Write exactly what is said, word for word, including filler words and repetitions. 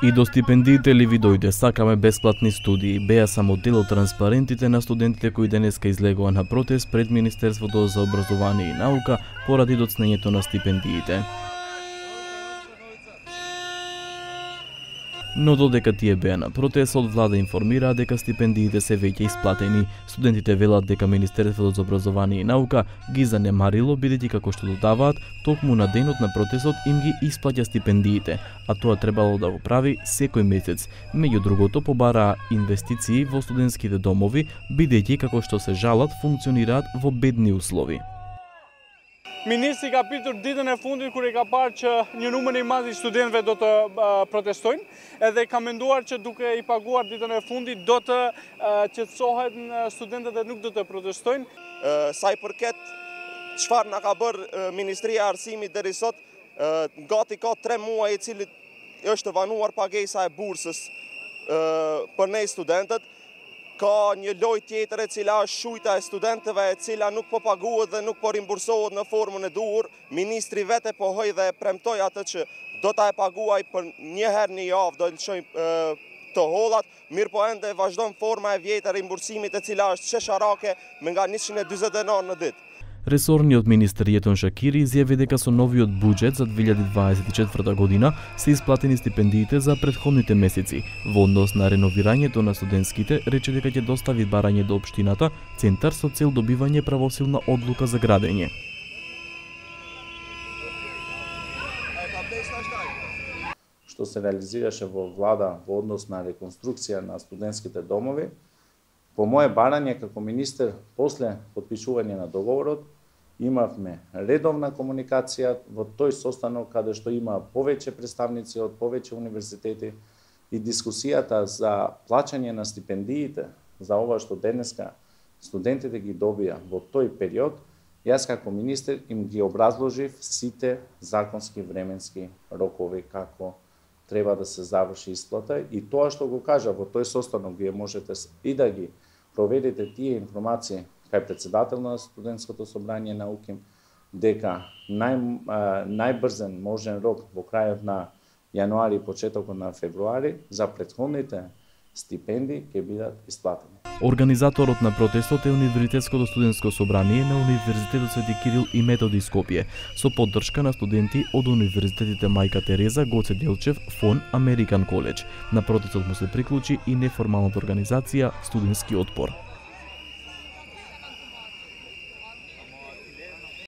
И до стипендиите ли ви дојде, сакаме бесплатни студии, беа само дел од транспарентите на студентите кои денеска излегува на протест пред Министерството за образование и наука поради доцнењето на стипендиите. Но додека тие беа на протест, од влада информираа дека стипендиите се веќе исплатени. Студентите велат дека Министерството за образование и наука ги занемарило, бидејќи како што додаваат, токму на денот на протестот им ги исплаќа стипендиите, а тоа требало да го прави секој месец. Меѓу другото, побараа инвестиции во студентските домови, бидејќи како што се жалат, функционираат во бедни услови. Ministri ka pritur ditën e fundit kur e ka parë që një numër i madh i studentëve do të uh, protestojnë, edhe ka menduar që duke i paguar ditën e fundit do të uh, qetësohet studentët dhe nuk do të protestojnë. Uh, sa i përket çfarë na ka bërë uh, Ministria e Arsimit deri sot, uh, gati ka tre muaj i cili është vanuar pagesa e bursës uh, për ne studentët. Ka një lojë tjetër e cila është shujta e studentëve e cila nuk po paguhet dhe nuk po rimbursohet në formën e duhur. Ministri vete po hoj dhe premtoi atë që do ta e paguaj për një herë në javë, do të lëshoj të hollat, mirë po ende vazhdon forma e vjetër e rimbursimit e cila është shesharake me nga njëqind e dyzet dinар në ditë. Ресорниот министер Јетон Шакири изјави дека со новиот буџет за две илјади дваесет и четврта година се исплатени стипендиите за претходните месеци. Во однос на реновирањето на студентските, рече дека ќе достави барање до општината центар со цел добивање правосилна одлука за градење. Што се реализираше во влада во однос на реконструкција на студентските домови, по моје барање како министер, после потпишување на договорот, имавме редовна комуникација во тој состанок каде што има повеќе представници од повеќе универзитети и дискусијата за плаќање на стипендиите за ова што денеска студентите ги добија во тој период, јас како министер им ги образложив сите законски временски рокови како треба да се заврши исплата и тоа што го кажа во тој состанок вие можете и да ги проведете тие информации кај председател на студентското собрање на УКИМ дека нај, најбрзен можен рок во крајот на јануари и почетокот на февруари за претходните стипендии ќе бидат исплатени. Организаторот на протестот е Универзитетското студентско собрание на Универзитетот Свети Кирил и Методи Скопје, со поддршка на студенти од универзитетите Мајка Тереза, Гоце Делчев, Фон, Американ коледж. На протестот му се приклучи и неформалната организација Студентски отпор.